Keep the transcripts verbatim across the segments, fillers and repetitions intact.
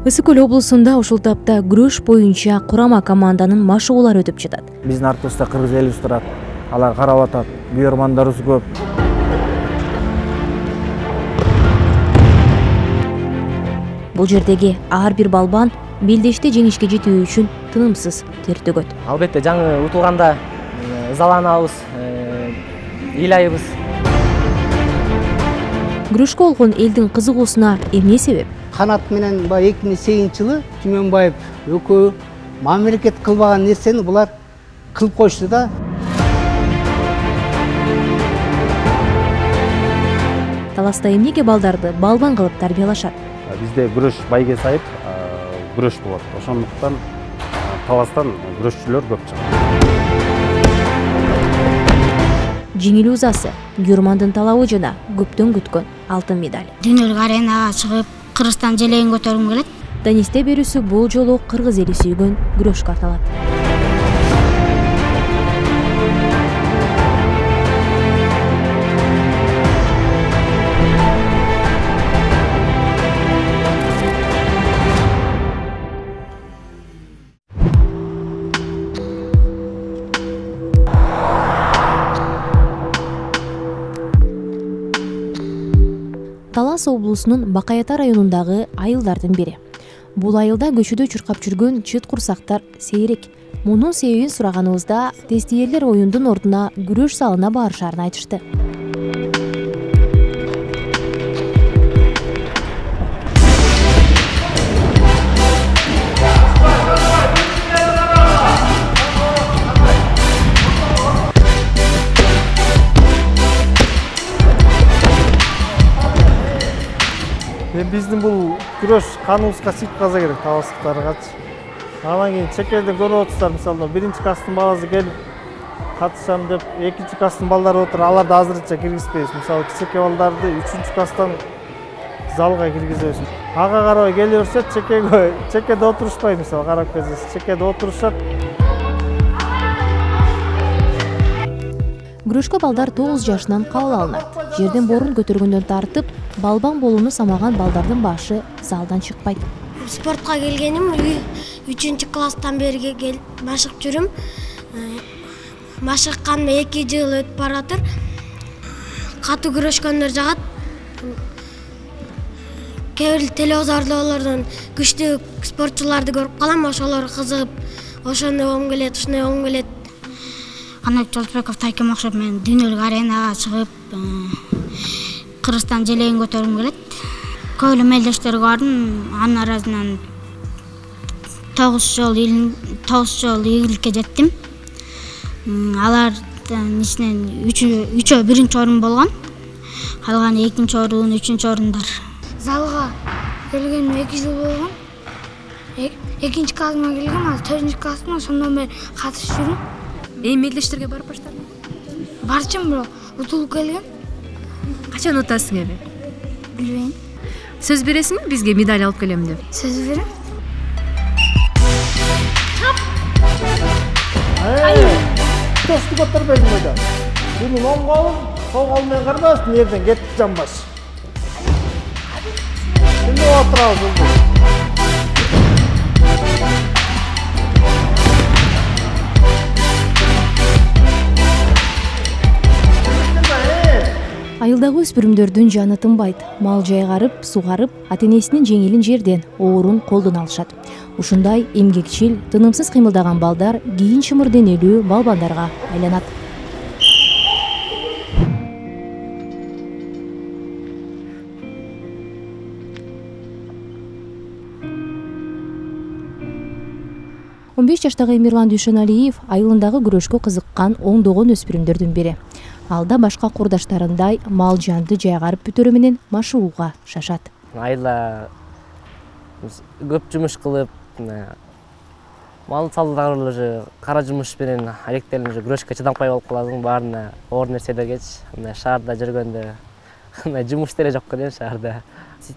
Ысык Көл облусунда ушул тапта күрөш боюнча курама команданын машыгуулары өтүп жатат. Биздин артыбызда кыргыз элибиз турат. Алар карап атат. Күйөрмандарыбыз көп. Бул жердеги ар бир балбан белдеште жеңишке жетүү үчүн тынымсыз тер төгөт. Албетте жаңы утулганда ызаланабыз, ыйлайбыз. Күрөшкө болгон элдин кызыгуусуна эмне себеп? Канат менен баягы эки миң сегизинчи жылы Түмөнбаев экөө мамлекет кылбаган нерсени булар кылып койушту да. Таласта эмнеге балдарды балбан кылып тарбиялашат? Бизде күрөш байге сайып, күрөш болот. Ошондуктан таластан күрөшчүлөр көп чыгат. Жеңил узасы, Гюрмандын талабы жана көптөн күткөн алтын медаль. Дүйнөлүк аренага чыгып, Кыргызстан желегин көтөргүм келет. Данисте берүүсү бул жолу кыргыз эли сүйгөн күрөшкө аталат. Талас облусунун Бакаята районундагы айылдардын бири. Бул айылда көчөдө чуркап жүргөн чыт курсактар сейрек. Мунун себебин сураганыбызда тестиерлер оюндун ордуна күрөш залына барышарын айтышты. Биздин бул күрөш каныбызга сип каза керек, таластыктаргачы. Анан кийин чекерден көрүп отурсуздар, мисалы биринчи класстын баласы келип катышам деп, экинчи класстын балдары отуруп, аларды азырынча киргизбейбиз. Мисалы кичине балдарды үчүнчү класстан залга киргизебиз. Ага карабай келе берсе, чекеге чекеде отурушпай, мисалы карап келсеңиз, чекеде отурушат. Күрөшкө балдар тогуз жашынан кабыл алынат. Жерден борун көтөргөндөн тартып, балбан болууну самаган балдардын башы залдан чыкпайт. Спортко келгеним үчүнчү класстан бери келип машыгып жүрүм. Машыкканыма эки жыл өтүп баратыр. Катуу күрөшкөндөр жагат. Кээ бир телевизорлордон күчтүү спортчуларды көрүп калам, ошолор кызыгып, ошондой болгум келет, ушундай болгум келет. Канат Жолдосбеков Тайкем окшоп мен дүйнөлүк аренага чыгып, Кыргызстан желегин көтөргүм келет. Көп эле мелдештерге бардым, анын арасынан тогуз жолу тогуз жолу ийгиликке жеттим. Алардын ичинен үчөө биринчи орун болгон. Калганы экинчи орун, үчүнчү орундар. Залга келгениме эки жыл болгон. Экинчи классыма келгем, азыр төртүнчү классыма, ошондон бери катышып жүрүм. Эми мелдештерге барып баштадым. Барчым, бирок утулуп келгем. Качан утасың эми? Билбейм. Сөз бересиңби бизге медаль алып келем деп? Сөз берем. Тосты көтөрбөйсүң бойда. Бирин оң колун, сол кол менен карабасын, жерден кетип жамбаш. Эми отурабыз. Айылдагы өспүрүмдөрдүн жаны тынбайт. Мал жайгарып, сугарып, ата-энесинин жеңилин жерден, оорун колдон алышат. Ушундай эмгекчил, тынымсыз кыймылдаган балдар кийин чымыр денелүү балбандарга айланат. он беш жаштагы Эмирлан Дүйшөналиев айылындагы күрөшкө кызыккан ондогон өспүрүмдөрдүн бири. Алда башка курдаштарындай мал жанды жайгарып бүтөрү менен машыгууга шашат. Айылда көп жумуш кылып, мал салдагы уже кара жумуш менен алектелип уже күрөшкө чыдампай болуп каласың, баарына оор нерселергечи. Мына шаарда жүргөндө мына жумуш деле жок экен шаарда.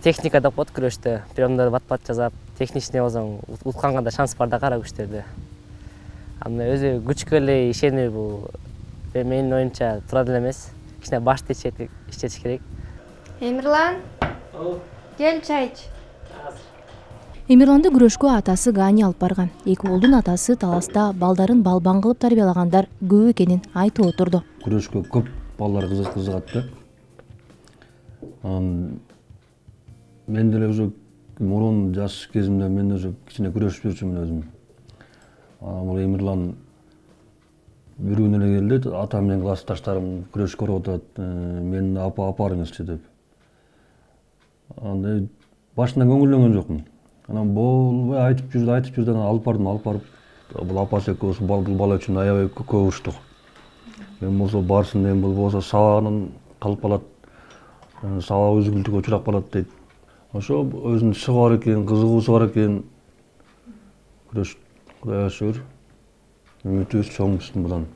Техника деп коет күрөштө. Приемдорду бат-бат жасап, техничный болсоң, утканга да шанс бар да кара күчтөрдө. Анда өзү күчкө эле ишенүү бул менин оюмча туура деле эмес. Кичине башты иштетиш керек. Эмирлан, кел чай ич. Эмирланды күрөшкө атасы Гани алып барган. Эки уулдун атасы таласта балдарын балбан кылып тарбиялагандар көп экенин айтып отурду. Күрөшкө көп балдар кызыгат да. Анан мен деле уже мурун жаш кезимде мен уже кичине күрөшүп жүрчүмүн өзүм. Анан бул Эмирлан бир күнү эле келди, атам менен классташтарым күрөш көрүп атат, мени апа апарыңызчы деп. Анда башында көңүлдөнгөн жокмун. Анан болбой айтып жүрдү, айтып жүрдү, анан алып бардым, алып барып, бул апасы экөөбүз бул бала үчүн аябай көп уруштук. Мен болсо барсын дейм, бул болсо сабагынан калып калат, сабагы үзгүлтүккө учурап калат дейт. Ошо өзүнүн иши бар экен, кызыгуусу бар экен. Күрөш Кудайга шүгүр, үмүтүбүз чоң мындан.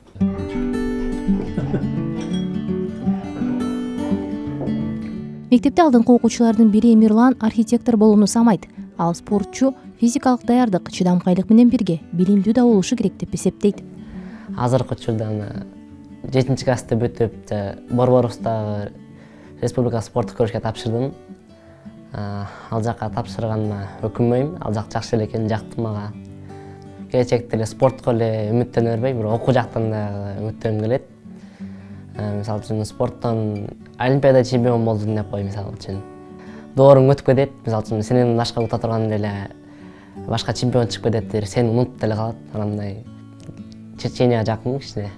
Мектепте алдыңкы окуучулардын бири Эмирлан архитектор болууну самайт. Ал спортчу физикалык даярдык, чыдамкайлык менен бирге билимдүү да болушу керек деп эсептейт. Азыркы учурда жетинчи классты бүтүп, Борборустагы республика спорттук күрөшкө тапшырдым. Ал жакка тапшырганыма өкүнбөйм, ал жак жакшы эле экен, жактым мага. Келечекте эле спортко эле үмүттөнө бербейм, бирок окуу жактан да үмүттөнгүм келет. Мисалы үчүн спорттон олимпиада чемпион болдум деп кой, мисалы үчүн. Дооруң өтүп кетет, мисалы үчүн сенен башка ута турган эле башка чемпион чыгып кетет, сени унутуп деле калат. Анандай Чеченияга жакын кичине.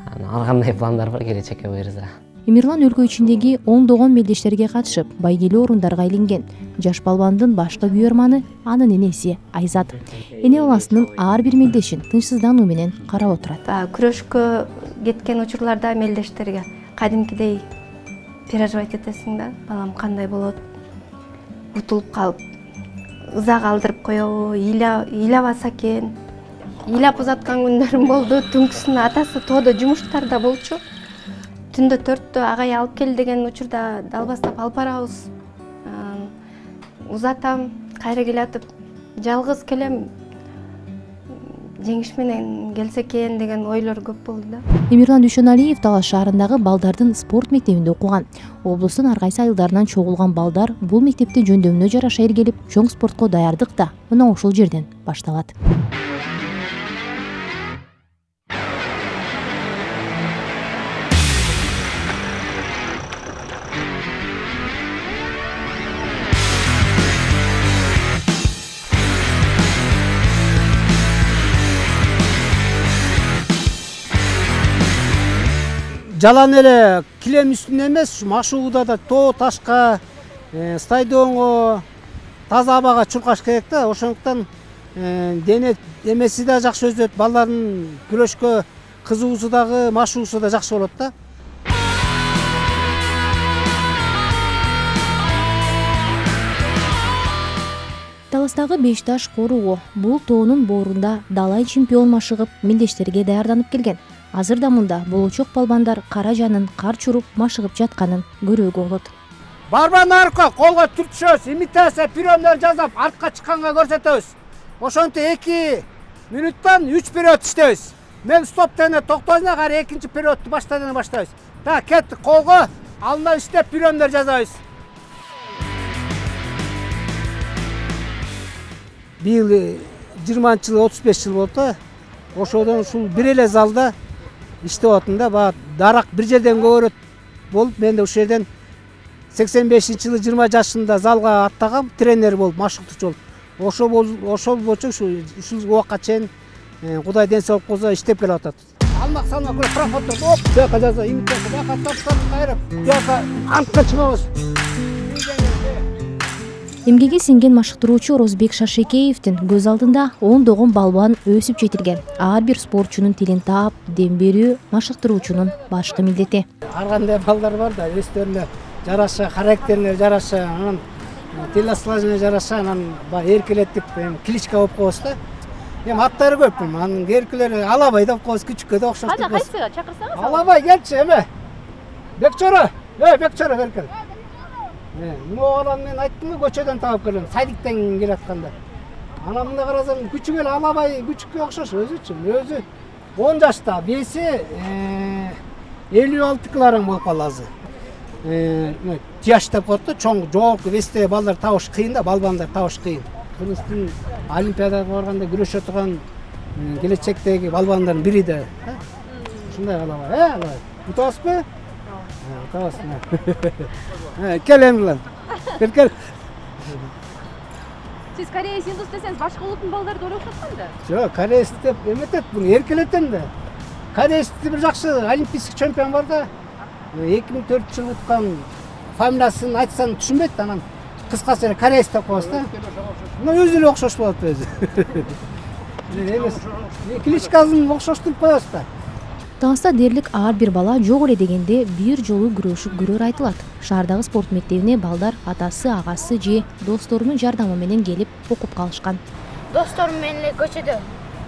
Ар кандай пландар бар келечекке буюрса. Эмирлан өлкө ичиндеги ондогон мелдештерге катышып, байгелүү орундарга илинген. Жаш балбандын башкы буйрманы анын энеси Айзат. Эне баласынын ар бир мелдешин тынчсыздануу менен карап отурат. Күрөшкө кеткен учурларда мелдештерге кадимкидей переживать этесиң да, балам кандай болот, утулуп калып, ыза калтырып коебу, ыйлабаса экен. Ыйлап узаткан күндөрүм болду. Түнкүсүн атасы тоодо жумуштарда болчу. Түндө төрттө агай алып кел деген учурда далбастап алып барабыз. Узатам, кайра келатып, жалгыз келем, жеңиш менен келсе экен деген ойлор көп болду да. Эмирлан Дүйшөналиев Талас шаарындагы балдардын спорт мектебинде окуган. Облустун ар кайсы айылдарынан чогулган балдар бул мектепте жөндөмүнө жараша эргелип, чоң спортко даярдык да мына ушул жерден башталат. Жалан эле килем үстүнө эмес, машыгууда да тоо ташка, стадионго, таза абага чуркаш керек да. Ошондуктан дене эмеси да жакшы өсөт, балдардын күрөшкө кызыгуусу дагы, машыгуусу да жакшы болот да. Таластагы беш таш коругу бул тоонун боорунда далай чемпион машыгып, мелдештерге даярданып келген. Азырда мында болочок балбандар кара жанын кар чуруп машыгып жатканын көрүүгө болот. Барбан арка колго түртүшөбүз, имитация приемдер жасап артка чыкканга көрсөтөбүз. Ошентип эки мүнөттөн үч период иштейбиз. Мен стоп дегенде токтойсуңар, кайра экинчи периодду баштайдан баштайбыз. Так, кеттик, колго алдынан иштеп приемдер жасайбыз. Быйыл жыйырманчы жыл отуз беш жыл болду. Ошодон ушул бир эле залда иштеп атам да, баа дарак бир жерден көбөрөт болуп, мен да ушул жерден сексен бешинчи жылы жыйырма жашымда залга аттагам, тренер болуп, машыктоочу болуп. Ошол ошол боюнча ушул убакка чейин Кудай ден соолук кылса иштеп келип атат. Алмак салмак көрөп проходдо оп, бияка жаза, имитация, бияка топтон кайрып, бияка антка чыгабыз. Эмгеги сиңген машыктыруучу Розбек Шашекеевдин көз алдында ондогон балбан өсүп жетилген. Ар бир спортчунун тилин таап, дем берүү машыктыруучунун башкы милдети. Ар кандай балдар бар да, өздөрүнө жараша, характерине жараша, анан телосложениене жараша, анан эркелетип, кличка болуп коебуз да. Эми аттары көп, анын эркелери Алабай деп коебуз, күчүккө да окшош деп коебуз. Кайсы чакырсаңыз? Алабай келчи, эме. Бекчора, эй, Бекчора беркел. Могулан мен айттым го, көчөдөн таап келем, сайдиктен келатканда. Анан мында карасам, күчүк эле Алабай күчүккө окшош өзүчү. Өзү он жашта, беси элүү алты килограмм болуп калды азыр. Тияш деп коет да, чоң, жогорку вестеги балдар табыш кыйын да, балбандар табыш кыйын. Кыргыздын олимпиадага барганда күрөшө турган келечектеги балбандардын бири да. Ушундай калабы, э, алай. Утасызбы? Утасың. Кел Эмилан. Кел, кел. Сиз кореец, индус десеңиз башка улуттун балдары да окшоткон да? Жок, кореец деп эметет, буну эркелетем да. Кореецте бир жакшы олимпийский чемпион бар да. эки миң төртүнчү жылы уткан фамилиясын айтсаң түшүнбөйт, анан кыскасы эле кореец деп коебуз да. Мына өзү эле окшош болот өзү. Эмес, кличкасын окшоштуруп коебуз да. Таласта дерлик ар бир бала жок эле дегенде бир жолу күрөшүп көрөр айтылат. Шаардагы спорт мектебине балдар атасы, агасы же досторунун жардамы менен келип окуп калышкан. Досторум менен эле көчөдө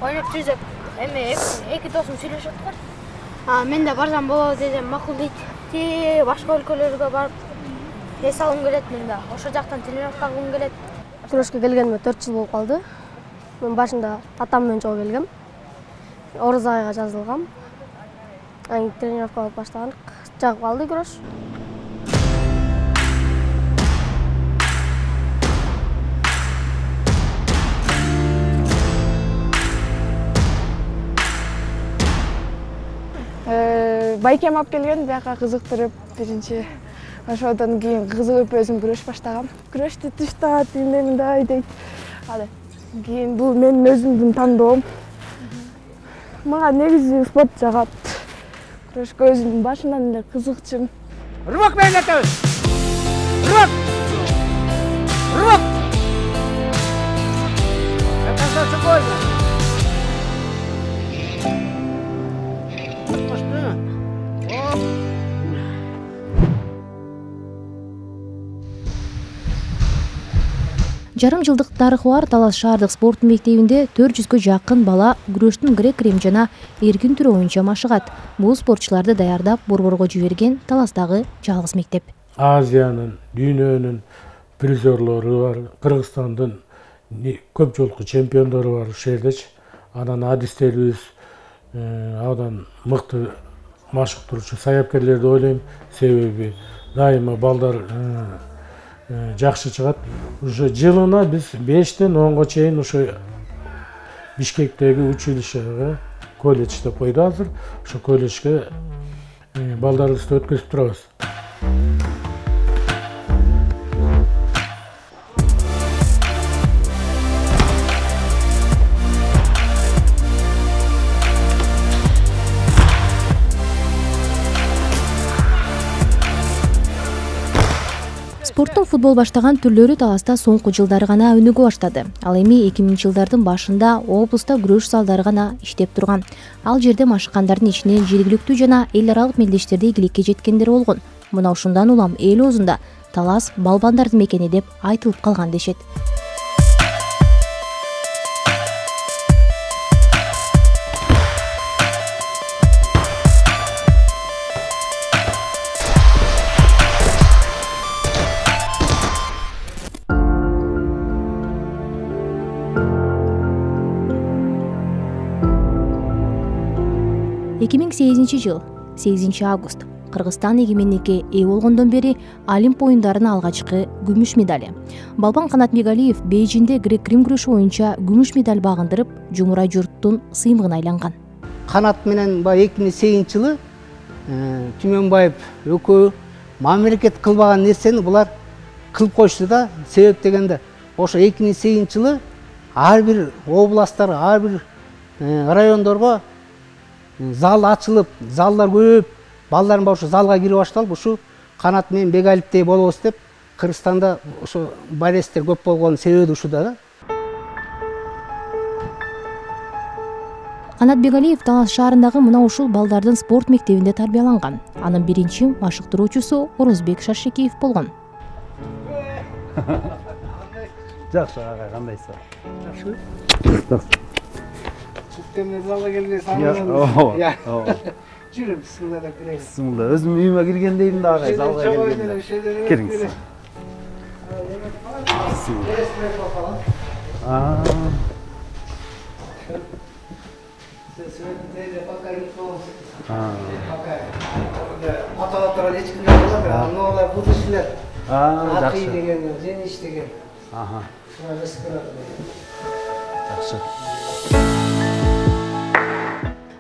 ойноп жүрсөк, эми эки досум сүйлөшүп аткар. А мен да барсам болобу десем макул дейт. Ти башка өлкөлөргө барып эс алгым келет, мен да ошол жактан тренировка кылгым келет. Күрөшкө келгениме төрт жыл болуп калды. Мен башында атам менен жолго келгем. Орус айга жазылгам. Аны тренировка алып баштадык. Жагып калды күрөш. Байкем алып келген, бияка кызыктырып, биринчи ошодон кийин кызыгып өзүм күрөш баштагам. Күрөштү тыштат, мындай мындай дейт. Ал кийин бул менин өзүмдүн тандоом. Мага негизи спорт жагат. Күрөшкө өзүм башынан эле кызыкчумун. Рывок менен атабыз. Рывок. Рывок. Касаться больно. Жарым жылдык тарыхы бар Талас шаардык спорт мектебинде төрт жүзгө жакын бала күрөштүн грек-рим жана эркин түрү боюнча машыгат. Бул спортчуларды даярдап борборго жиберген Таластагы жалгыз мектеп. Азиянын, дүйнөнүн призерлору бар, Кыргызстандын көп жолку чемпиондору бар ушул жердечи. Анан адистерибиз абдан мыкты машыктыруучу саяпкерлерди ойлойм, себеби дайыма балдар жакшы чыгат. Уже жылына биз бештен онго чейин ошо Бишкектеги училищеге, колледж деп койду азыр. Ошо колледжге балдарыбызды өткөзүп турабыз. Спорттун футбол баштаган түрлөрү Таласта соңку жылдары гана өнүгө баштады. Ал эми эки миңинчи жылдардын башында облуста күрөш залдары гана иштеп турган. Ал жерде машыккандардын ичинен жергиликтүү жана эл аралык мелдештерде ийгиликке жеткендер болгон. Мына ушундан улам эл оозунда Талас балбандардын мекени деп айтылып калган дешет. эки миң сегизинчи жыл сегизинчи август Кыргызстан эгемендикке ээ болгондон бери Олимп оюндарынын алгачкы күмүш медали. Балбан Канатбегалиев Бейжиңде грек-рим күрөшү боюнча күмүш медаль багындырып, жумурай журттун сыймыгына айланган. Канат менен баягы эки миң сегизинчи жылы Түмөнбаев экөө мамлекет кылбаган нерсени булар кылып коюшту да. Себеп дегенде ошо эки миң сегизинчи жылы ар бир областтар, ар бир райондорго зал ачылып, залдар көп, балдарын ошо залга кирип башталып, ушу Канат менен Бегалиевдей болобуз деп, Кыргызстанда ошо болельщиктер көп болгон себеби ушуда да. Канат Бегалиев Талас шаарындагы мына ушул балдардын спорт мектебинде тарбияланган. Анын биринчи машыктыруучусу Орозбек Шаршекеев болгон. Жакшы, ага, кандайсың? Жакшы. Темне залга келген саңын. Я. Жүрүм, бисмилла деп кирейин. Бисмилла. Өзүм үйүмө киргендейм да агай, залга келгенде. Кириңиз. Аа. Аа. Ата отурган эч ким жок болот, анолар будущийлер. Аа, жакшы. Акый деген, Жениш деген. Аха. Жакшы.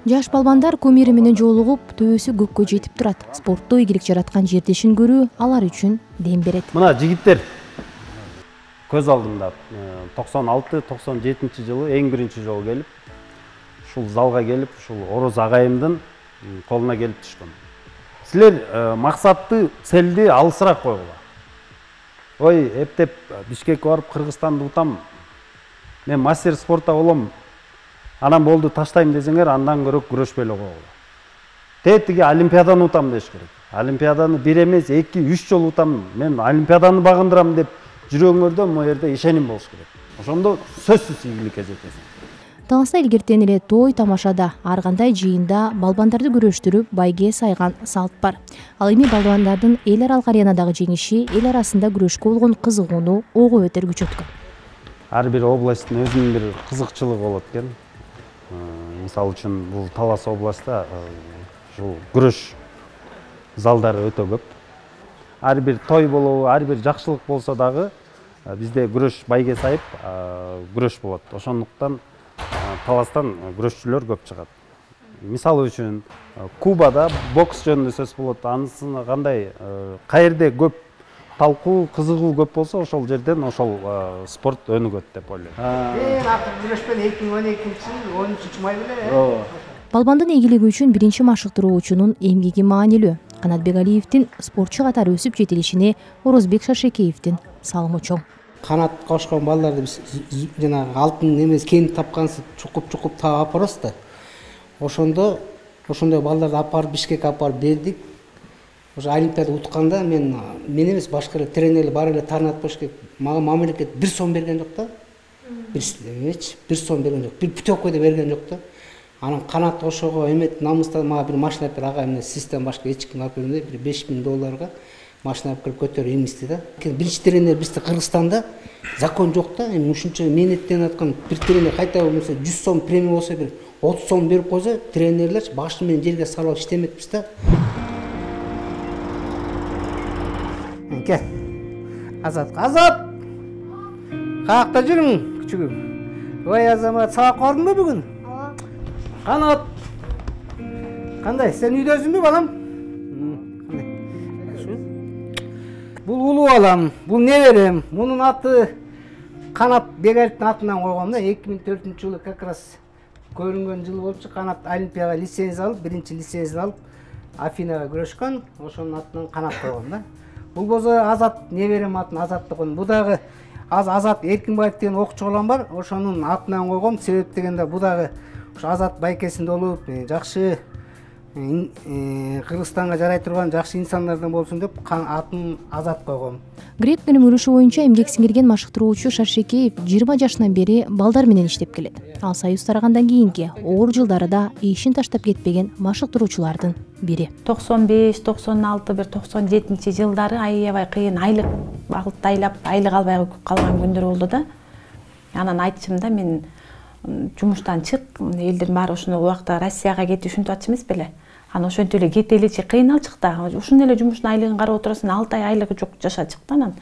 Жаш балбандар кумири менен жолугуп, төбөсү көккө жетип турат. Спортто ийгилик жараткан жердешин көрүү алар үчүн дем берет. Мына жигиттер көз алдымда токсон алты токсон жетинчи жылы эң биринчи жолу келип, ушул залга келип, ушул Ороз агайымдын колуна келип түшкөн. Силер максатты, целди алысыраак койгула. Ой, эптеп Бишкекке барып Кыргызстанды утам, мен мастер спортта болом, анан болду таштайм десеңер, андан көрөк күрөшпөй эле койгула. Тетиги олимпиаданы утам деш керек. Олимпиаданы бир эмес, эки, үч жолу утам, мен олимпиаданы багындырам деп жүрөгүңөрдө могу жерде ишеним болуш керек. Ошондо сөзсүз ийгиликке жетесиң. Таласта илгертен эле той тамашада, ар кандай жыйында балбандарды күрөштүрүп байге сайган салт бар. Ал эми балбандардын эл аралык аренадагы жеңиши эл арасында күрөшкө болгон кызыгууну ого бетер күчөткөн. Ар бир областтын өзүнүн бир кызыкчылыгы болот экен. Мисалы үчүн бул Талас областта ушул күрөш залдары өтө көп. Ар бир той болобу, ар бир жакшылык болсо дагы бизде күрөш байге сайып күрөш болот. Ошондуктан Таластан күрөшчүлөр көп чыгат. Мисалы үчүн Кубада бокс жөнүндө сөз болот. Анысына кандай каерде көп талкуу, кызыгуу көп болсо, ошол жерден ошол спорт өнүгөт деп ойлойм. Мен акыр күрөшпөн эки миң он экинчи жыл он үчүнчү май беле. Балбандын ийгилиги үчүн биринчи машыктыруучунун эмгеги маанилүү. Канатбек Алиевдин спортчу катары өсүп жетилишине Орозбек Шашекеевдин салымы чоң. Канат кошкон балдарды биз жанагы алтын эмес кен тапкансыз чукуп-чукуп таап алып барабыз да. Ошондо ошондой балдарды алып барып Бишкекке алып барып бердик. Ошо олимпиада утканда мен мен эмес башка эле тренерлер бар эле таанат болуш керек. Мага мамлекет бир сом берген жок да. Бир бир сом берген жок. Бир путевка да берген жок да. Анан канат кошого эмет намыстан мага бир машина бер ага эмне систем башка эч ким алып бергенде бир беш миң долларга машина алып келип көтөрүп эмисти да. Биринчи тренер бизде Кыргызстанда закон жок да. Эми ушунча менеттенип аткан бир тренер кайта болмосо жүз сом премия болсо бир отуз сом берип койсо, тренерлер башы менен жерге салып иштеметпиз да. Кел. Азат, Азат. Каякта жүрүң, күчүгүм? Ой, Азамат, сабак бардыңбы бүгүн? Канат. Кандай, сен үйдөсүңбү, балам? Бул улуу балам, бул неберем. Мунун аты Канат Бегалиевдин атынан койгом да. эки миң төртүнчү жылы как раз көрүнгөн жыл болчу. Канат олимпияга лицензия алып, биринчи лицензия алып, Афинага күрөшкөн. Ошонун атынан Канат койгом да. Бул болсо Азат неберем атын Азат койгон. Бу дагы аз Азат Эркинбаев деген окуучу балам бар. Ошонун атынан койгом. Себеп дегенде бу дагы ошо Азат байкесинде болуп, жакшы Кыргызстанга жарай турган жакшы инсандардан болсун деп атын Азат койгом. Грек-рим күрөшү боюнча эмгек сиңирген машыктыруучу Шаршекеев жыйырма жашынан бери балдар менен иштеп келет. Ал союз тарагандан кийинки оор жылдарда ишин таштап кетпеген машыктыруучулардын бири. токсон беш токсон алты бир токсон жетинчи жылдары аябай кыйын, айлык багыттайлап, айлык албай калган күндөр болду да. Анан айтчым да, мен жумуштан чык, элдин баары ушул убакта Россияга кетип ушинтип атчу эмес беле. Анан ошентип эле кетеличи кыйналчык да. Ушун эле жумуштун айлыгын карап отурасың, алты ай айлыгы жок жашачык да. Анан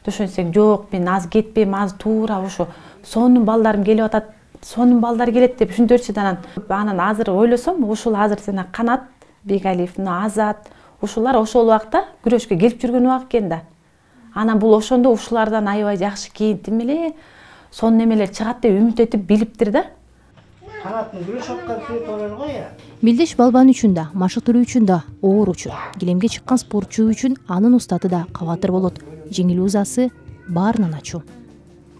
түшүнсөң, жок, мен аз кетпейм, аз туура ушу сонун балдарым келип атат, сонун балдар келет деп ушинтерчи да. Анан анан азыр ойлосом, ушул азыр сена Канат Бегалиев, Азат, ушулар ошол убакта күрөшкө келип жүргөн убак экен да. Анан бул ошондо ушулардан аябай жакшы кийинтим эле сонун эмелер чыгат деп үмүт этип билиптир да. Канаттын күрөш аткан сүрөт бар го я. Мелдеш балбан үчүн да, машыктыруу үчүн да оор учур. Килемге чыккан спортчу үчүн анын устаты да кабатыр болот. Жеңил узасы баарынан ачуу.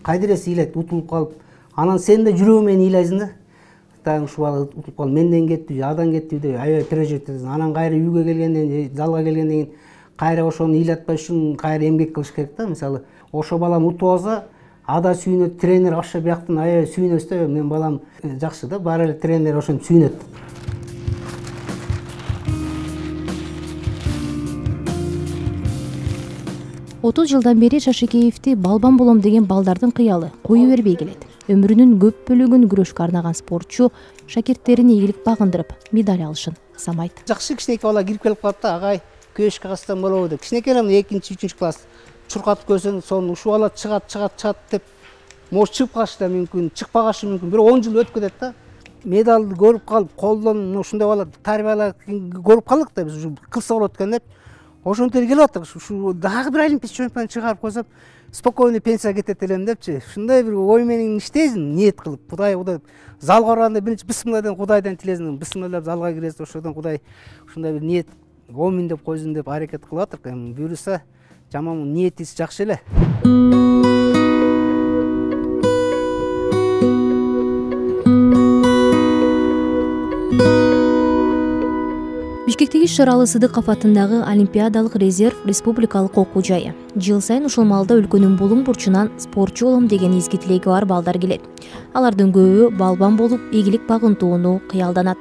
Кайдырес ыйлайт, утулуп калып, анан сен да жүрөгүң менен ыйлайсың да. Тагы ушул бала утулуп калып, менден кетти, адан кетти деп аябай переживать этесиң. Анан кайра үйгө келгенден, залга келгенден кийин кайра ошону ыйлатпаш үчүн кайра эмгек кылыш керек да. Мисалы, ошо балам утуп алса, ада сүйүнөт, тренер ошо бияктан аябай сүйүнөт да. Мен балам жакшы да, баары эле тренер ошентип сүйүнөт. отуз жылдан бери Шашекеевди балбан болом деген балдардын кыялы кою бербей келет. Өмүрүнүн көп бөлүгүн күрөшкө арнаган спортчу шакирттерине ийгилик багындырып, медаль алышын самайт. Жакшы кичинекей бала кирип келип калат да, агай күрөшкө катышсам болобу деп. Кичинекей эле экинчи, үчүнчү класс чуркатып көрсөң, сону ушул бала чыгат, чыгат, чыгат деп может чыгып калышы да мүмкүн, чыкпагашы мүмкүн. Бирок он жыл өтүп кетет да. Медалды көрүп калып, колдон ушундай бала тарбиялап көрүп калдык да биз кылса болот экен деп. Ошентип келип атат. Ушу дагы бир олимпийский чемпион чыгарып койсом, спокойно пенсияга кетет элем депчи. Ушундай бир ой менен иштейсиң, ниет кылып. Кудай Кудай залга барганда биринчи бисмилладан Кудайдан тилесиң, бисмилла деп залга киресиң, ошодон Кудай ушундай бир ниет омин деп койсун деп аракет кылып атырк. Эми буюрса жаман ниетиңиз жакшы эле. Бишкектеги Шыралы Сыдыков атындагы Олимпиадалык резерв республикалык окуу жайы. Жыл сайын ушул маалда өлкөнүн булуң бурчунан спортчу болом деген изги тилеги бар балдар келет. Алардын көбү балбан болуп, ийгилик багынтууну кыялданат.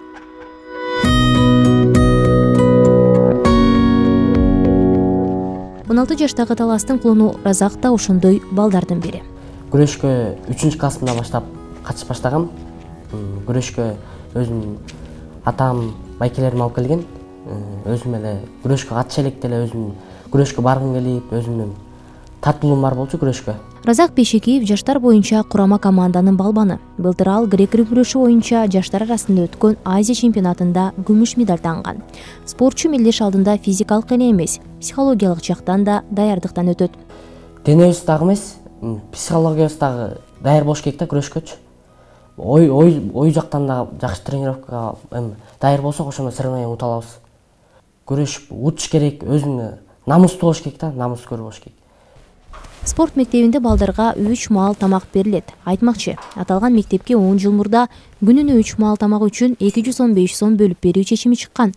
он алты жаштагы Таластын кулуну Разак да ошондой балдардын бири. Күрөшкө үчүнчү классымда баштап катышып баштагам. Күрөшкө өзүм атам, байкелерим алып келген. Өзүм эле күрөшкө катыша электе эле өзүм күрөшкө баргым келип, өзүмдүн тартылуум бар болчу күрөшкө. Разак Бейшекиев жаштар боюнча курама команданын балбаны. Былтыр ал грек-рим күрөшү боюнча жаштар арасында өткөн Азия чемпионатында күмүш медаль танган. Спортчу мелдеш алдында физикалык эле эмес, психологиялык жактан да даярдыктан өтөт. Денебиз дагы эмес, психологиябыз дагы даяр болуш керек да күрөшкөчү. Ой ой ой жактан да жакшы тренировкага эми даяр болсок, ошондо соревнование ута алабыз. Күрөшүп утуш керек, өзүңө намыстуу болуш керек да, намыскөр болуш керек. Спорт мектебинде балдарга үч маал тамак берилет. Айтмакчы, аталган мектепке он жыл мурда күнүнө үч маал тамак үчүн эки жүз он беш сом бөлүп берүү чечими чыккан.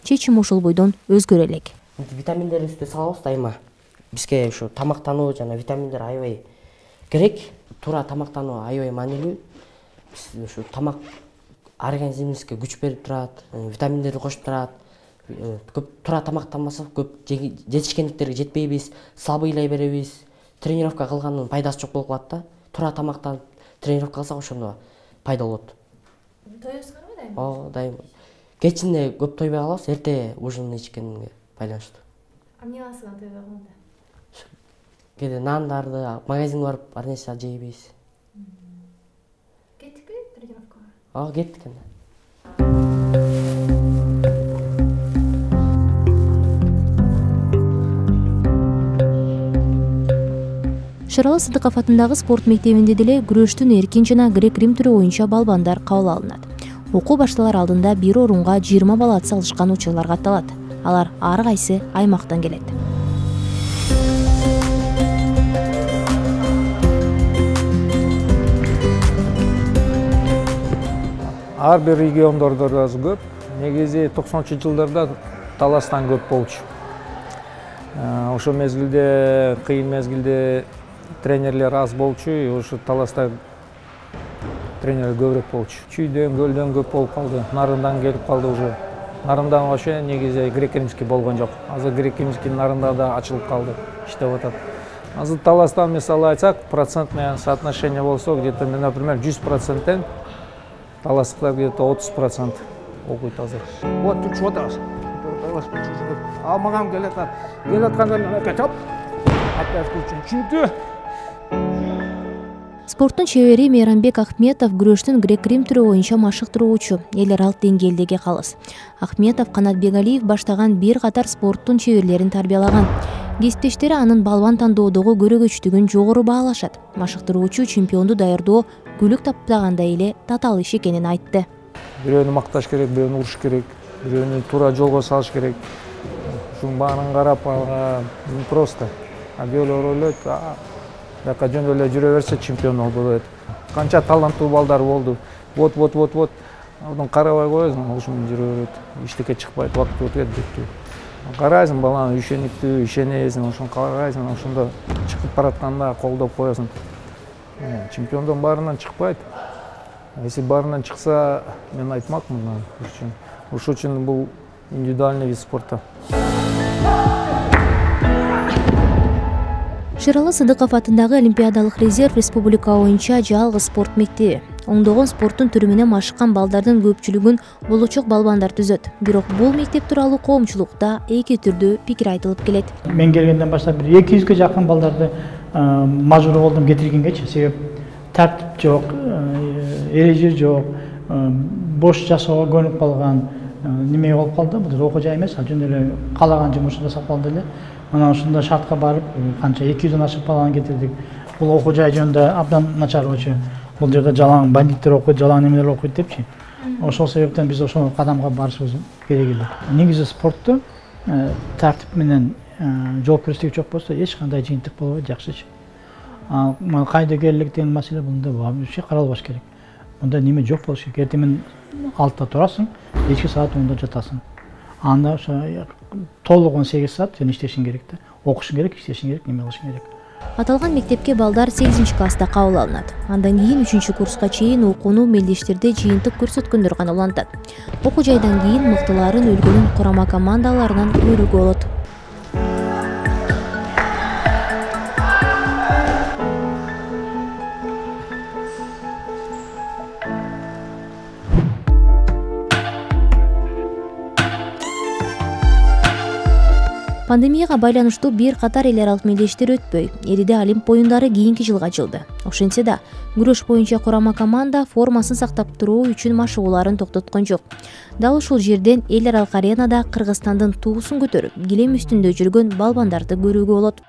Чечим ошол бойдон өзгөрө элек. Витаминдерди үстү салабыз дайыма. Бизге ушу тамактануу жана витаминдер аябай керек. Туура тамактануу аябай маанилүү. Биз ушу тамак организмибизге күч берип турат, витаминдерди кошуп турат. Көп туура тамактанбасак көп жетишкендиктерге жетпейбиз, слабыйлай беребиз. Тренировка кылгандын пайдасы жок болуп калат да. Туура тамактанып тренировка кылсак ошондо пайда болот. Тоёсузбу дайыма? Ооба, дайыма. Кечинде көп тойбой калабыз, эрте ужин ичкенге байланыштуу. Эмне кыласыз тойбой калганда? Кээде нандарды, магазинге барып, ар нерсе жейбиз. Кеттикпи тренировкага? Ооба, кеттик энди. Шыралы Сыдыков атындагы спорт мектебинде деле күрөштүн эркин жана грек-рим түрү боюнча балбандар кабыл алынат. Окуу башталар алдында бир орунга жыйырма бала ат салышкан учурлар катталат. Алар ар кайсы аймактан келет. Ар бир региондордо да көп. Негизи токсонунчу жылдарда Таластан көп болчу. Ошол мезгилде, кыйын мезгилде тренерлер аз болчу, ошо Таласта тренер көбүрөөк болчу. Чүйдөн, көлдөн көп болуп калды. Нарындан келип калды уже. Нарындан вообще негизи грек-римский болгон жок. Азыр грек-римский Нарында да ачылып калды, иштеп атат. Азыр Таластан мисалы айтсак, процентное соотношение болсо, где-то, например, жүз проценттен таластыктар где-то отуз процент окуйт азыр. Вот тут вот раз. Ал маған келет, келет аткандан опять оп. Опять включен. Чүнкү Спорттун чебери Мейрамбек Ахметов күрөштүн грек-рим түрү боюнча машыктыруучу, эл аралык деңгээлдеги калыс. Ахметов Канат Бегалиев баштаган бир катар спорттун чеберлерин тарбиялаган. Кесиптештери анын балбан тандоодогу көрөгөчтүгүн жогору баалашат. Машыктыруучу чемпионду даярдоо күлүк таппагандай эле татаал иш экенин айтты. Бирөөнү макташ керек, бирөөнү уруш керек, бирөөнү туура жолго салыш керек. Ушунун баарын карап алга просто. А бирөөлөр ойлойт, жака жөн эле жүрө берсе чемпион болот. Канча таланттуу балдар болду. Вот, вот, вот, вот. Андан карабай коесуң, ошол менен жүрө берет. Эчтеке чыкпайт, убакыт өтөт бүттү. Карайсың баланы ишениктүү, ишенесиң, ошону карайсың, ошондо чыгып баратканда колдоп коесуң. Чемпиондун баарынан чыкпайт. Если баарынан чыкса, мен айтмакмын үчүн. Ошол үчүн бул индивидуальный вид спорта. Шыралы Сыдыков атындагы Олимпиадалык резерв республика боюнча жалгыз спорт мектеби. Оңдогон спорттун түрү менен машыккан балдардын көпчүлүгүн болочок балбандар түзөт. Бирок бул мектеп тууралуу коомчулукта эки түрдүү пикир айтылып келет. Мен келгенден баштап бир эки жүзгө жакын балдарды мажбур болдум кетиргенгечи. Себеп тартип жок, эреже жок, бош жасоого көнүп калган неме болуп калды. Бул окуу жай эмес, ал жөн эле каалаган жумушун жасап калды эле. Анан ушундай шартка барып, канча эки жүздөн ашык баланы кетирдик. Бул окуу жай жөнүндө абдан начар болчу. Бул жерде жалаң бандиттер окуйт, жалаң немелер окуйт депчи. Ошол себептен биз ошол кадамга барышыбыз керек эле. Негизи спортто тартип менен жоопкерчилик жок болсо эч кандай жыйынтык болбойт, жакшычы. А кайдыгерлик деген маселе мында вообще каралбаш керек. Мында неме жок болуш керек. Эртең менен алтыда турасың, кечки саат онда жатасың. Анда ошо толук он сегиз саат сен иштешиң керек да. Окушуң керек, иштешиң керек, неме кылышың керек. Аталган мектепке балдар сегизинчи класста кабыл алынат. Андан кийин үчүнчү курска чейин окууну мелдештерде жыйынтык көрсөткөндөр гана улантат. Окуу жайдан кийин мыктыларын өлкөнүн курама командаларынан көрүүгө болот. Пандемияга байланыштуу бир катар эл аралык мелдештер өтпөй, Эриде Олимп оюндары кийинки жылга ачылды. Ошентсе да, күрөш боюнча курама команда формасын сактап туруу үчүн машыгууларын токтоткон жок. Дал ушул жерден эл аралык аренада Кыргызстандын туусун көтөрүп, килем үстүндө жүргөн балбандарды көрүүгө болот.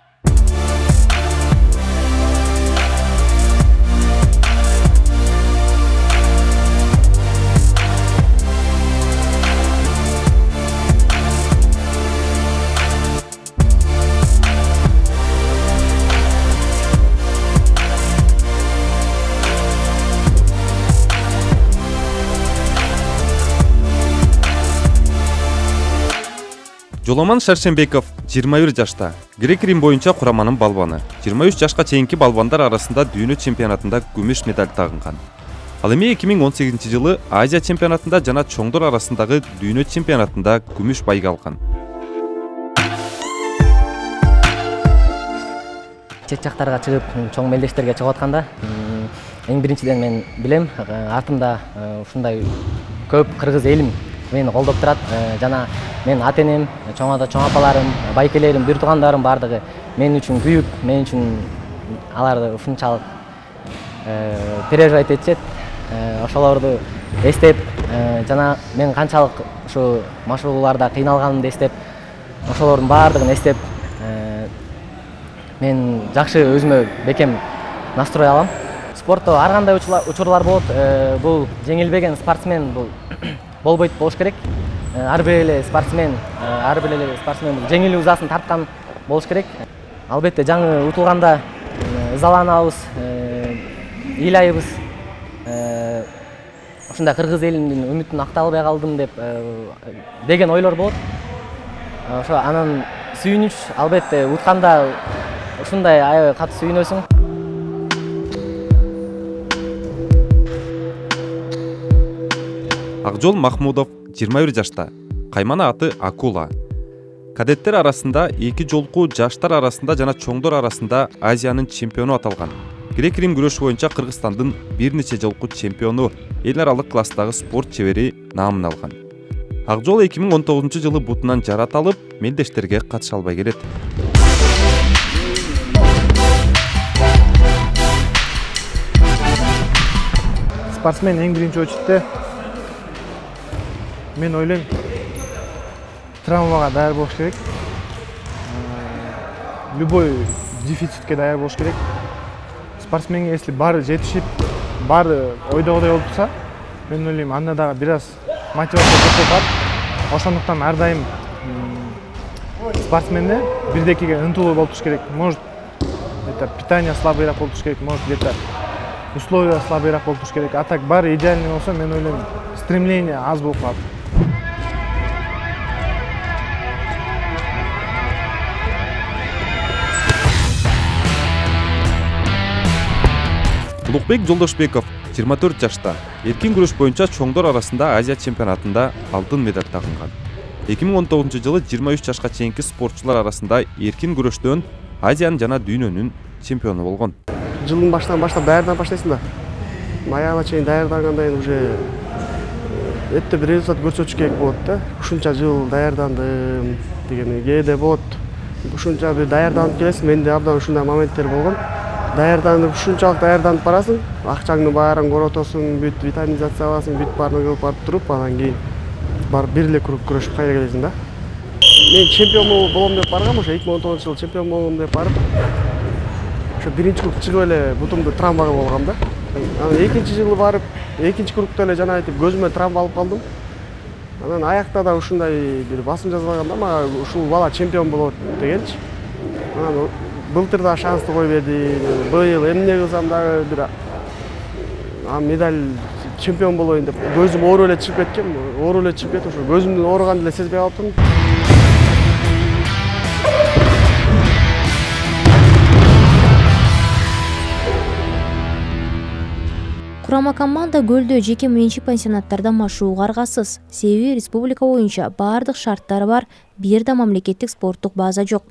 Жоломан Шаршенбеков жыйырма бир жашта, грек-рим боюнча кураманын балбаны. жыйырма үч жашка чейинки балбандар арасында дүйнө чемпионатында күмүш медаль тагынган. Ал эми эки миң он сегизинчи жылы Азия чемпионатында жана чоңдор арасындагы дүйнө чемпионатында күмүш байга алган. Чет жактарга чыгып, чоң мелдештерге чыгып атканда, эң биринчиден мен билем, артымда ушундай көп кыргыз элим мени колдоп турат, жана мен ата-энем, чоң ата, чоң апаларым, байкелерим, бир туугандарым бардыгы мен үчүн күйүп, мен үчүн аларды ушунчалык переживать этишет. Ошолорду эстеп, жана мен канчалык ушу машыгууларда кыйналганымды эстеп, ошолордун баардыгын эстеп, мен жакшы өзүмө бекем настрой алам. Спортто ар кандай учурлар болот. Бул жеңилбеген спортсмен бул болбойт болуш керек. Ар бир эле спортсмен, ар бир эле спортсмен бул жеңил узасын тарткан болуш керек. Албетте жаңы утулганда ызаланабыз, ыйлайбыз. Ушундай кыргыз элинин үмүтүн актай албай калдым деп деген ойлор болот. Ошо анан сүйүнүч, албетте утканда ушундай аябай катуу сүйүнөсүң. Акжол Махмудов жыйырма бир жашта, каймана аты Акула. Кадеттер арасында эки жолку, жаштар арасында жана чоңдор арасында Азиянын чемпиону аталган. Грек-рим күрөшү боюнча Кыргызстандын бир нече жолку чемпиону, эл аралык класстагы спорт чебери наамын алган. Акжол эки миң он тогузунчу жылы бутунан жарат алып, мелдештерге катыша албай келет. Спортсмен эң биринчи очередде мен ойлойм, травмага даяр болуш керек. Любой дефицитке даяр болуш керек. Спортсменге если баары жетишип, баары ойдогодай болуп турса, мен ойлойм, анда дагы бир аз мотивация көп болот. Ошондуктан ар дайым спортсменде бирдекеге ынтылуу болуп туруш керек. Может, это питание слабыйраак болуп туруш керек, может, где-то условия слабыйраак болуп туруш керек. А так баары идеальный болсо, мен ойлойм, стремление аз болуп калат. Улукбек Жолдошбеков жыйырма төрт жашта, эркин күрөш боюнча чоңдор арасында Азия чемпионатында алтын медаль тагынган. эки миң он тогузунчу жылы жыйырма үч жашка чейинки спортчулар арасында эркин күрөштөн Азиянын жана дүйнөнүн чемпиону болгон. Жылдын башынан баштап даярданып баштайсың да. Аягына чейин даярданганда эми уже өтө бир результат көрсөтүш керек болот да. Ушунча жыл даярдандым деген кээде болот. Ушунча бир даярданып келесиң, менде абдан ушундай моменттер болгон. даярданып ушунчалык даярданып барасың, акчаңды баарын коротосуң, бүт витаминизация аласың, бүт баарын кылып барып туруп, анан кийин барып бир эле круг күрөшүп кайра келесиң да. Мен чемпион болом деп баргам, ошо эки миң он тогузунчу жылы чемпион болом деп барып, ошо биринчи круг чыгып эле бутумду травма кылып алгам да. Анан экинчи жылы барып, экинчи кругта эле жана айтып көзүмө травма алып калдым. Анан аякта да ушундай бир басым жазылганда мага ушул бала чемпион болот дегенчи. Анан былтыр да шансты кой берди. Быйыл эмне кылсам дагы бир медаль чемпион болоюн деп көзүм оору эле чыгып кеткен. Оору эле чыгып кетип, ошо көзүмдүн ооруганын эле сезбей калыптырмын. Курама команда көлдө жеке менчик пансионаттарда машыгууга аргасыз. Себеби республика боюнча баардык шарттары бар, бир да мамлекеттик спорттук база жок.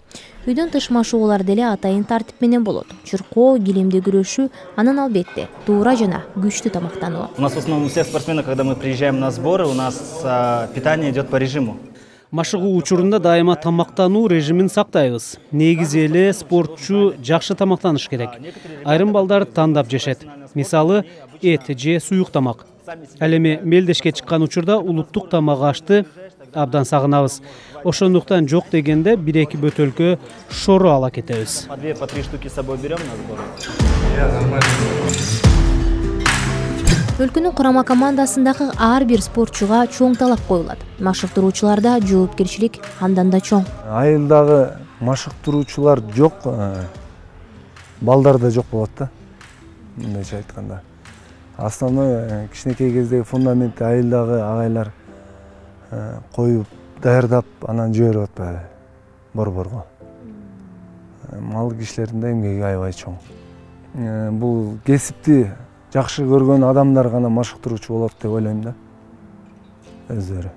Үйдөн тыш машыгуулар деле атайын тартип менен болот. Чуркоо, килемде күрөшүү, анан албетте туура жана күчтүү тамактануу. У нас в основном у всех спортсменов, когда мы приезжаем на сборы, у нас питание идет по режиму. Машыгуу учурунда дайыма тамактануу режимин сактайбыз. Негизи эле спортчу жакшы тамактаныш керек. Айрым балдар тандап жешет. Мисалы, эт же суюк тамак. Ал эми мелдешке чыккан учурда улуттук тамак ашты абдан сагынабыз. Ошондуктан жок дегенде бир-эки бөтөлкө шору ала кетебиз. По две, по три штуки с собой берем на сборы. Өлкөнүн курама командасындагы ар бир спортчуга чоң талап коюлат. Машыктыруучуларда жоопкерчилик андан да чоң. Айылдагы машыктыруучулар жок, балдар да жок болот да. Мындайча айтканда. Основной кичинекей кездеги фундаментти айылдагы агайлар коюп, даярдап, анан жиберип атпайбы борборго. Мал кишилердин да эмгеги аябай чоң. Бул кесипти жакшы көргөн адамдар гана машыктыруучу болот деп ойлойм да. Өздөрү.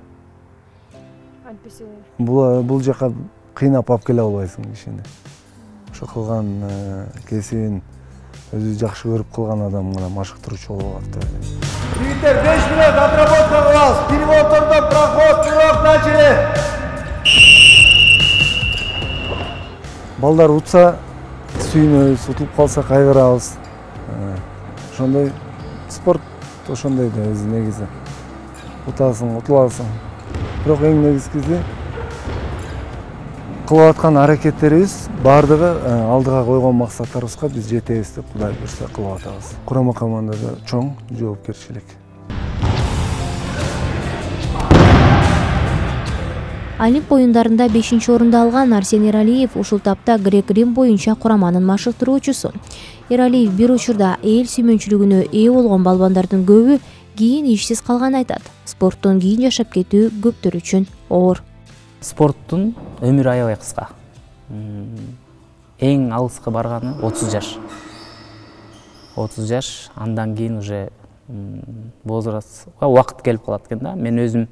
Бул бул жака кыйнап алып келе албайсың кишини. Ошо кылган кесибин өзү жакшы көрүп кылган адам гана машыктыруучу боло алат деп ойлойм. Жигиттер беш мүнөт отработка кылабыз. Перевортордон проход, курок начали. Балдар утса сүйүнөбүз, утулуп калса кайгырабыз. Ошондой спорт ошондой да өзү негизи. Утасың, утуласың. Бирок эң негизгиси кылып аткан аракеттерибиз баардыгы алдыга койгон максаттарыбызга биз жетебиз деп Кудай буйрса кылып атабыз. Курама командада чоң жоопкерчилик. Олимп оюндарында бешинчи орунду алган Арсен Эралиев ушул тапта грек-рим боюнча кураманын машыктыруучусу. Эралиев бир учурда эл сүймөнчүлүгүнө ээ болгон балбандардын көбү кийин ишсиз калганын айтат. Спорттон кийин жашап кетүү көптөр үчүн оор. Спорттун өмүрү аябай кыска. Эң алыска барганы отуз жаш. отуз жаш, андан кийин уже возраст, убакыт келип калат экен да. Мен өзүм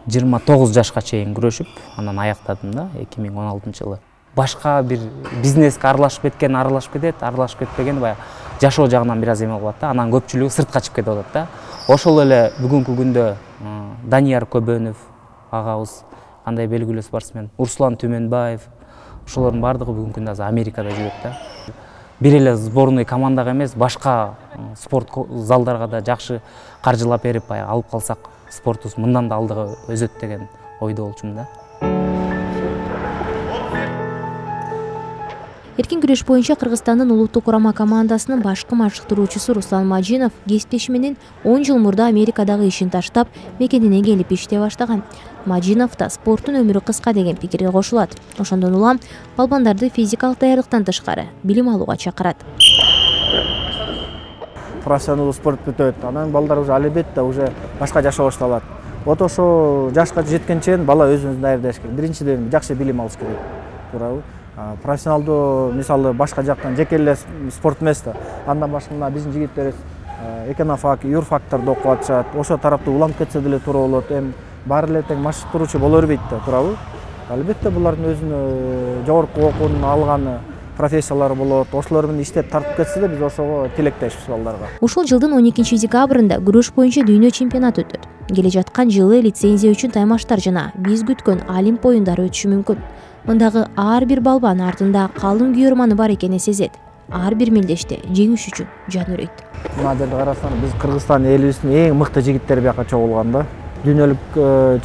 жыйырма тогуз жашка чейин күрөшүп, анан аяктадым да эки миң он алтынчы жылы. Башка бир бизнеске аралашып кеткен, аралашып кетет, аралашып кетпеген баягы жашоо жагынан бир аз эме болот да. Анан көпчүлүгү сыртка чыгып кетип атат да. Ошол эле бүгүнкү күндө Данияр Көбөнов агабыз, кандай белгилүү спортсмен, Урслан Түмөнбаев, ошолордун баардыгы бүгүнкү күндө азыр Америкада жүрөт да. Бир эле сборный командага эмес, башка спорт залдарга да жакшы каржылап берип, баягы алып калсак, спортубуз мындан да алдыга өзөт деген ойдо болчумун да. Эркин күрөш боюнча Кыргызстандын улуттук курама командасынын башкы машыктыруучусу Руслан Мажинов кесиптеши менен он жыл мурда Америкадагы ишин таштап, мекенине келип иштей баштаган. Мажинов да спорттун өмүрү кыска деген пикирге кошулат. Ошондон улам балбандарды физикалык даярдыктан тышкары билим алууга чакырат. Профессионалдуу спорт бүтөт, анан балдар уже албетте уже башка жашоо башталат. Вот ошо жашка жеткенче бала өзүн даярдаш керек. Биринчиден жакшы билим алыш керек. Туурабы? Профессионалдуу мисалы башка жактан жеке эле спорт эмес да. Андан башка мына биздин жигиттерибиз эконофак, юрфакторду окуп атышат. Ошо тарапты уланып кетсе деле туура болот. Эми баары эле тең машыктыруучу боло бербейт да, туурабы? Албетте булардын өзүнүн жогорку окуунун алганы профессиялары болот. Ошолор менен иштеп тартып кетсе да биз ошого тилектешпиз балдарга. Ушул жылдын он экинчи декабрында күрөш боюнча дүйнө чемпионаты өтөт. Келе жаткан жылы лицензия үчүн таймаштар жана биз күткөн Олимп оюндары өтүшү мүмкүн. Мындагы ар бир балбан артында калың күйөрманы бар экенин сезет. ар бир мелдеште жеңиш үчүн жан өрөйт. Мына карасаң, биз Кыргызстан элибиздин эң мыкты жигиттери бияка чогулган да. Дүйнөлүк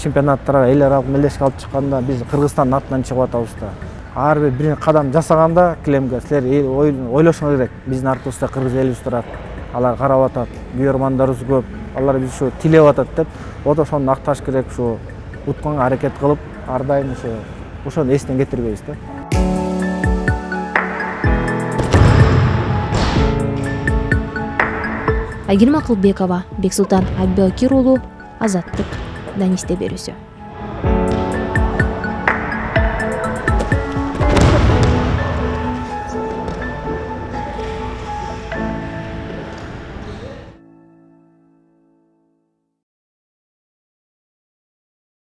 чемпионаттарга эл аралык мелдешке алып чыкканда биз Кыргызстандын атынан чыгып атабыз да. Ар бир бир кадам жасаганда килемге силер ойлошуңар керек. Биздин артыбызда кыргыз элибиз турат. Алар карап атат, күйөрмандарыбыз көп. Алар биз ушу тилеп атат деп, ото ошону акташ керек, ушу утканга аракет кылып, ар дайым ушу ошону эстен кетирбейбиз да. Айгерим Акылбекова, Бексултан Аббакир уулу, Азаттык, Данисте берүүсү.